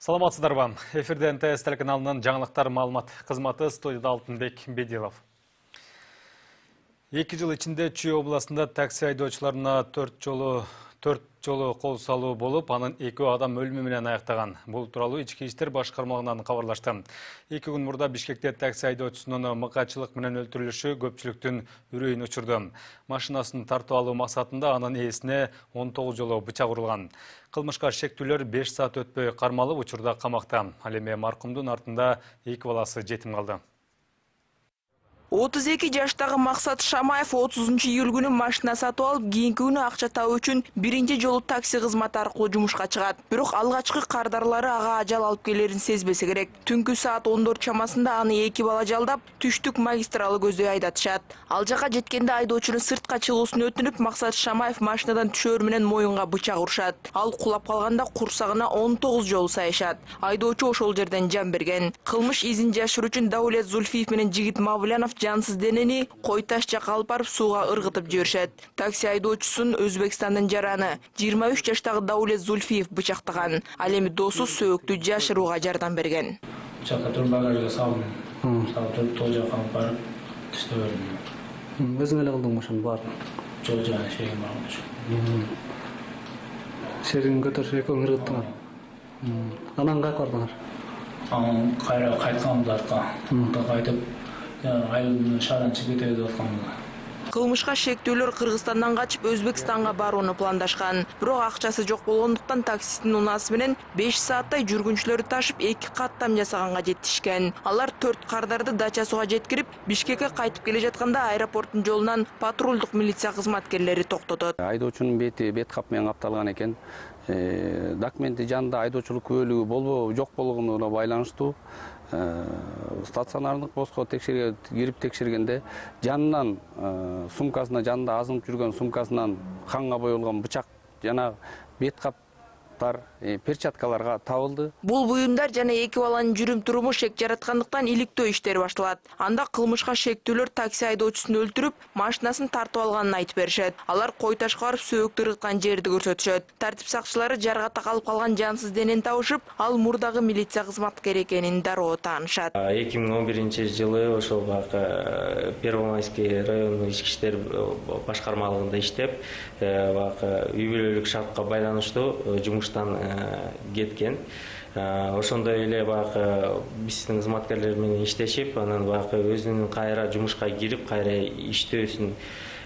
Саламатсыздарбы? Эфирде НТС телеканалынын жаңылыктар маалымат кызматы, студияда Алтынбек Бедилов. 2 жыл ичинде Чүй областында такси айдоочуларына 4 жолу кол салуу болуп, анын 2 адам өлүмү менен аяктаган. Бул тууралуу Ички иштер башкармалыгынан кабарлашты. 2 күн мурда Бишкекте такси айдоочусунун мыкаачылык менен өлтүрүлүшү көпчүлүктүн үрөйүн учурду. Машинасын тартып алуу максатында анын ээсине 19 жолу бычак урулган. Кылмышка шектүүлөр 5 саат өтпөй кармалып, учурда камакта. Ал эми маркумдун артында 2 баласы жетим калды. 32 жаштагы Максат Шамаев 30-июль күнү машина сатып алып, кийинки күнү акча табуу үчүн биринчи жолу такси кызматы аркылуу жумушка чыгат. Бирок алгачкы кардарлары ага ажал алып келерин сезбесе керек. Түнкү саат 14 чамасында аны 2 бала жалдап, түштүк магистралы көздөй айдатышат. Ал жака жеткенде айдоочунун сыртка чыгуусун өтүнүп, Максат Шамаев машинадан түшөр менен моюнга бычак урушат. Ал кулап калганда курсагына 19 жолу сайышат. Айдоочу ошол жерден жан берген. Кылмыш изин жашыруу үчүн Даулет Зульфиев менен Жигит Мавлянов жансыз денени кой таш жакка алып барып сууга ыргытып жиберишет. Такси айдоочусун Өзбекстандын жараны 23 жаштагы Даулет Зульфиев бычактаган. Ал эми досу сөөктү жашырууга жардам берген. Бычакка туруп багажга салдым. Салып тол жакка алып барып тыштап бердим. Өзүң эле кылдыңбы ошону баарын? Жол жана шегим бар. Шерин көтөрүп экөөң ыргыттыңар. Анан кайка бардыңар? Анан кайтканбыз артка. Кайтып айылдын шаардан чыгып кетебиз деп атканбыз. Кылмышка шектүүлөр Кыргызстандан качып Өзбекстанга барууну пландашкан. Бирок акчасы жок болгондуктан таксисттин унаасы менен 5 сааттай жүргүнчүлөрдү ташып 2 каттам жасаганга жетишкен. Алар 4 кардарды дача-суга жеткирип, Бишкекке кайтып келе жатканда аэропорттун жолунан патрулдук милиция кызматкерлери токтотот. Айдоочунун бет кап менен капталган экен. Документи жанында айдоочулук күбөлүгү болбоо жок болгонуна байланыштуу стационардык боско кирип текшергенде жанынан сумкасына жанында азынып жүргөн сумкасынан канга боелгон бычак жана бет каптар, перчаткаларга табылды. Бул буюмдар жана 2 баланын жүрүм-туруму шек жараткандыктан иликтөө иштери башталат. Анда кылмышка шектүүлөр такси айдоочусун өлтүрүп, машинасын тартып алганын айтып беришет. Алар кой ташка барып сөөктү ыргыткан жерди көрсөтүшөт. Тартип сакчылары жарга такалып калган жансыз денени табышып, ал мурдагы милиция кызматкери экенин дароо таанышат. 2011-жылы ошол Первомайский райондук ички иштер башкармалыгында иштеп, үй бүлөлүк шартка байланыштуу жумуштан кеткен. Ошондой эле биздин кызматкерлер менен иштешип, анан өзүнүн кайра жумушка кирип, кайра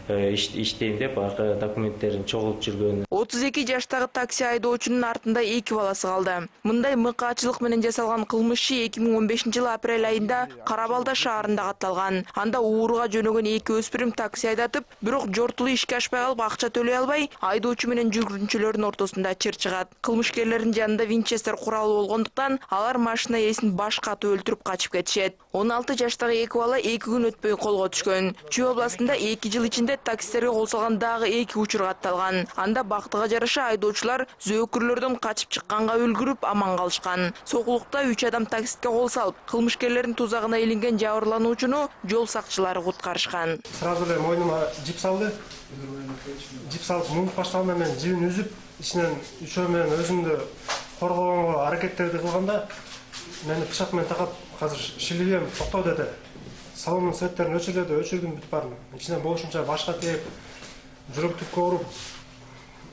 иштейм деп документтерин чогултуп жүргөн. 32 жаштагы такси айдоочунун артында 2 баласы калды. Мындай мыкаачылык менен жасалган кылмыш 2015-жылы апрель айында Карабалда шаарында катталган. Анда ууруга жөнөгөн 2 өспүрүм такси айдатып, бирок жортулуу ишке ашпай калып, акча төлөй албай, айдоочу менен жүргүнчүлөрдүн ортосунда чыр чыгат. Кылмышкерлердин жанында винчестер куралы болгондуктан, алар машина ээсин баш катып өлтүрүп качып кетишет. 16 жаштагы 2 бала 2 күн өтпөй колго түшкөн. Чүй областында 2 жыл ичинде таксистерге кол салган дагы 2 учур катталган. Анда бактыга жараша айдоочулар зөөкүрлөрдөн качып чыкканга үлгүрүп аман калышкан. Сокулукта 3 адам таксистке кол салып, кылмышкерлердин тузагына илинген жабырлануучуну жол сакчылары куткарышкан. Сразу эле мойнума жип салды. Жип салып муңуп баштаганда мен жибин үзүп, ичинен үчөө менен өзүмдү коргогонго аракеттерди кылганда, мени бычак менен такап, азыр шилибем токтоо деди. Салондун светтерин өчүрдү, өчүрдүм бүт баарын. Ичинен болушунча башка тээп, жүрөк түпкө уруп,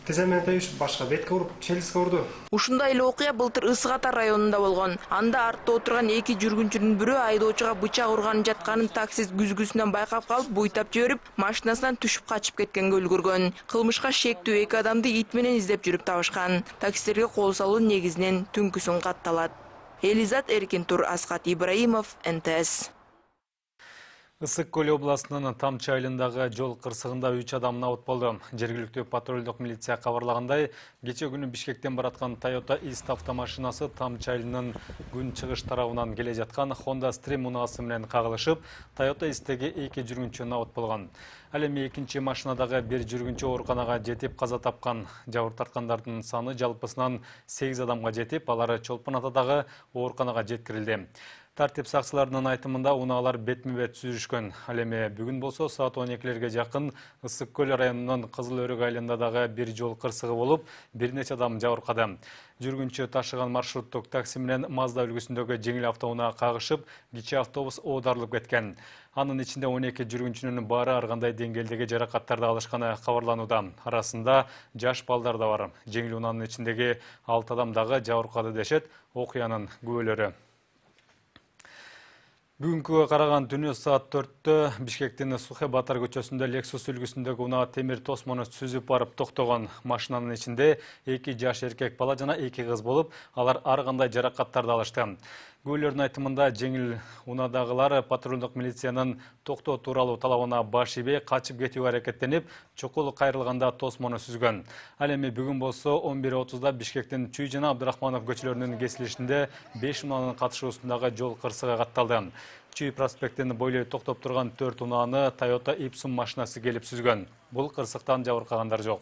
тиземен тебишип, башка бетке уруп, челюстке урду. Ушундай эле окуя былтыр Ысык Ата районунда болгон. Анда артта отурган 2 жүргүнчүнүн бирөө айдоочуга бычак урганын жатканын таксист күзгүсүнөн байкап калып, буйтап жиберип, машинасынан түшүп качып кеткенге үлгүргөн. Кылмышка шектүү 2 адамды ит менен издеп жүрүп табышкан. Таксистерге кол салуу негизинен түнкүсүн катталат. Элизат Эркинтур, Аскат Ибраимов, НТС. Ысык Көл областынын Тамчы айылындагы жол кырсыгында 3 адам абат болду. Жергиликтүү патрулдук милиция кабарлагандай, кече күнү Бишкектен бараткан Toyota Ist автомашинасы Тамчы айылынын күн чыгыш тарабынан келе жаткан Honda Stream унаасы менен кагылышып, Toyota Ist'теги 2 жүргүнчү абат болгон. Ал эми экинчи машинадагы 1 жүргүнчү ооруканага жетип каза тапкан. Жабыр тарткандардын саны жалпысынан 8 адамга жетип, алар Чолпон Атадагы ооруканага жеткирилди. Тартип сакчыларынын айтымында унаалар бетме-бет сүзүшкөн. Ал эми бүгүн болсо саат 12-лерге жакын Ысык көл районунун Кызыл Өрүк айылында дагы бир жол кырсыгы болуп, бир нече адам жабыркады. Жүргүнчү ташыган маршруттук такси менен Мазда үлгүсүндөгү жеңил автоунаа кагышып, кичи автобус оодарылып кеткен. Анын ичинде 12 жүргүнчүнүн баары ар кандай деңгээлдеги жаракаттарды алышканы кабарланууда. Арасында жаш балдар да бар. Жеңил унаанын ичиндеги 6 адам дагы жабыркады дешет окуянын күбөлөрү. Бүгүнкүгө караган түнү саат 4-тө Бишкектин Сухе Батар көчөсүндө Lexus үлгүсүндөгү унаа темир тосмону сүзүп барып токтогон. Машинанын ичинде 2 жаш эркек бала жана 2 кыз болуп, алар ар кандай жаракаттарды алышты. Күбөлөрдүн айтымында жеңил унаадагылар патрулдук милициянын токтоо тууралуу талабына баш ийбей качып кетүүгө аракеттенип, чукул кайрылганда тосмону сүзгөн. Ал эми бүгүн болсо 11:30да Бишкектин Чүй жана Абдрахманов көчөлөрүнүн кесилишинде 5 унаанын катышуусундагы жол кырсыгы катталды. Чүй проспектин бойлой токтоп турган 4 унааны Toyota Ipsum машинасы келип сүзгөн. Бул кырсыктан жабыркагандар жок.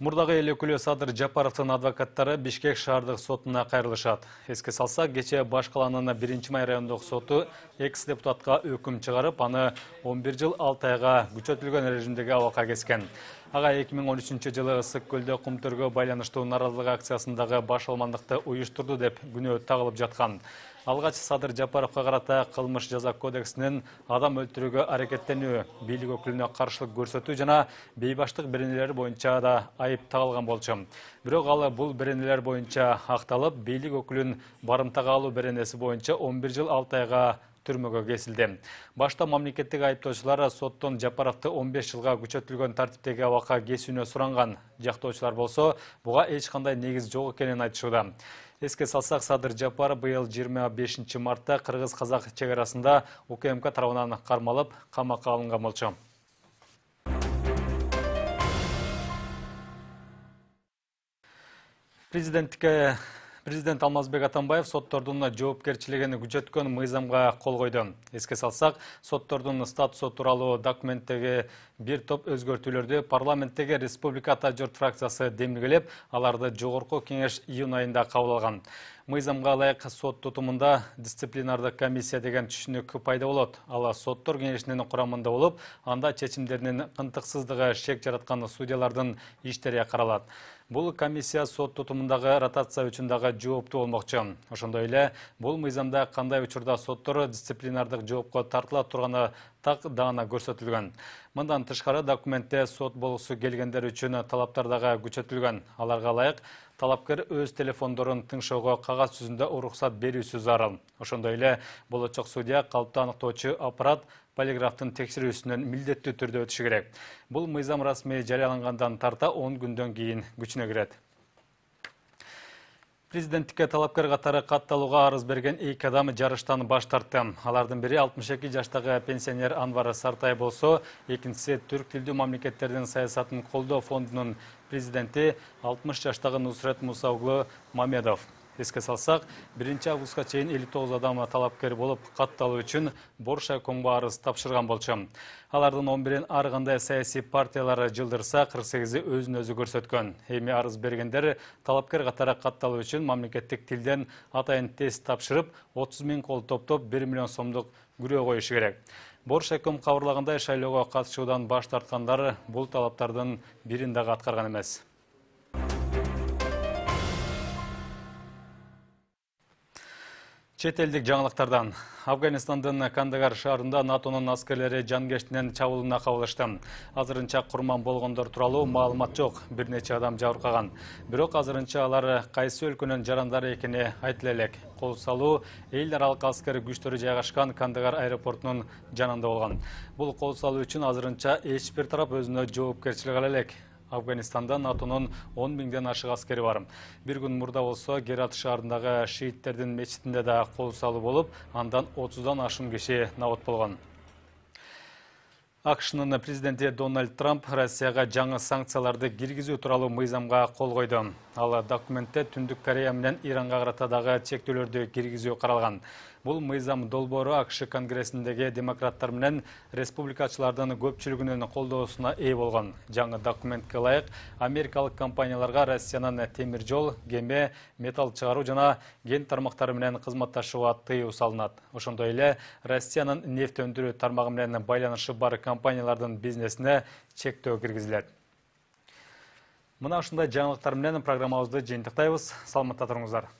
Мурдагы эл өкүлү Садыр Жапаровдун адвокаттары Бишкек шаардык сотуна кайрылышат. Эске салсак, кечээ Баш калаанын 1-Май райондук соту экс-депутатка өкүм чыгарып, аны 11 жыл 6 айга күчөтүлгөн режимдеги абакка кескен. Ага 2013-жылы Ысык көлдө кум төргө байланыштуу наразылык акциясындагы баш алмандыкты уюштурду деп күнөө тагылып жаткан. Алгач Садыр Жапаровго карата кылмыш жаза кодексинин адам өлтүрүүгө аракеттенүү, бийлик өкүлүнө каршылык көрсөтүү жана бейбаштык беренелери боюнча да айып тагылган болчу. Бирок ал бул беренелер боюнча акталып, бийлик өкүлүн барымтага алуу беренеси боюнча 11 жыл 6 айга түрмөгө кесилди. Башта мамлекеттик айыптоочулар соттон Жапаровду 15 жылга күчөтүлгөн тартиптеги абакка кесүүнү суранган. Жактоочулар болсо буга эч кандай негиз жок экенин айтышууда. Эске салсак, Садыр Жапаров быйыл 25 мартта кыргыз-казак чек арасында УКМК тарабынан кармалып, камакка алынган болчу. Президент Алмазбек Атамбаев соттордун жоопкерчилигин күчөткөн мыйзамга кол койду. Эске салсак, соттордун статусу тууралуу документтеги бир топ өзгөртүүлөрдү парламенттеги Республика Ата журт фракциясы демилгелеп, аларды жогорку кеңеш июнь айында кабыл алган. Мыйзамга ылайык сот тутумунда дисциплинардык комиссия деген түшүнүк пайда болот. Ал соттор кеңешинин курамында болуп, анда чечимдеринин ынтыксыздыгы шек жараткан судьялардын иштери каралат. Бул комиссия сот тутумундагы ротация үчүн дагы жооптуу болмокчу. Ошондой эле бул мыйзамда кандай учурда соттор дисциплинардык жоопко тартыла турганы так даана көрсөтүлгөн. Мындан тышкары документте сот болгусу келгендер үчүн талаптар дагы күчөтүлгөн. Аларга ылайык талапкер өз телефондорун тыңшоого кагаз жүзүндө уруксат берүүсү зарыл. Ошондой эле болочок судья калпты аныктоочу аппарат полиграфтын текшерүүсүнөн милдеттүү түрдө өтүшү керек. Бул мыйзам расмий жарыялангандан тарта 10 күндөн кийин күчүнө кирет. Президенттикке талапкер катары катталууга арыз берген 2 адам жарыштан баш тартты. Алардын бири 62 жаштагы пенсионер Анвар Сартай болсо, экинчиси түрк тилдүү мамлекеттердин саясатын колдоо фондунун президенти 60 жаштагы Нусрет Муса уулу Мамедов. Эске салсак, 1 августка чейин 59 адам талапкер болуп, катталуу үчүн Бош айкомго арыз тапшырган болчу. Алардын 11-ин ар кандай саясий партиялар жылдырса, 48-и өзүн өзү көрсөткөн. Эми арыз бергендер талапкер катары катталуу үчүн мамлекеттик тилден атайын тест тапшырып, 30 000 кол топтоп 1 миллион сомдук күрөө коюшу керек. Бош айком кабарлагандай, шайлоого катышуудан баш тарткандар бул талаптардын бирин дагы аткарган эмес. Чет элдик жаңылыктардан. Афганистандын Кандагар шаарында НАТОнун аскерлери жанкештинен чабуулуна кабылышты. Азырынча курман болгондор тууралуу маалымат жок. Бир нече адам жабыркаган. Бирок азырынча алар кайсы өлкөнүн жарандары экени айтыла элек. Кол салуу эл аралык аскер күчтөрү жайгашкан Кандагар аэропортунун жанында болгон. Бул кол салуу үчүн азырынча эч бир тарап өзүнө жоопкерчилик ала элек. Афганистанда НАТОнун 10 000ден ашык аскери бар. Бир күн мурда болсо Герат шаарындагы шииттердин мечитинде да кол салуу болуп, андан 30дан ашуун киши набат болгон. АКШнын президенти Дональд Трамп Россияга жаңы санкцияларды киргизүү тууралуу мыйзамга кол койду. Ал документте Түндүк Корея менен Иранга карата дагы чектөөлөрдү киргизүү каралган. Бул мыйзам долбоору АКШ конгрессиндеги демократтар менен республикачылардын көпчүлүгүнүн колдоосуна ээ болгон. Жаңы документке ылайык америкалык компанияларга Россиянын темир жол, кеме, металл чыгаруу жана кен тармактары менен кызматташууга тыюу салынат. Ошондой эле Россиянын нефть өндүрүү тармагы менен байланышы бар компаниялардын бизнесине чектөө киргизилет. Мына ушундай жаңылыктар менен программабызды жыйынтыктайбыз. Саламатта туруңуздар.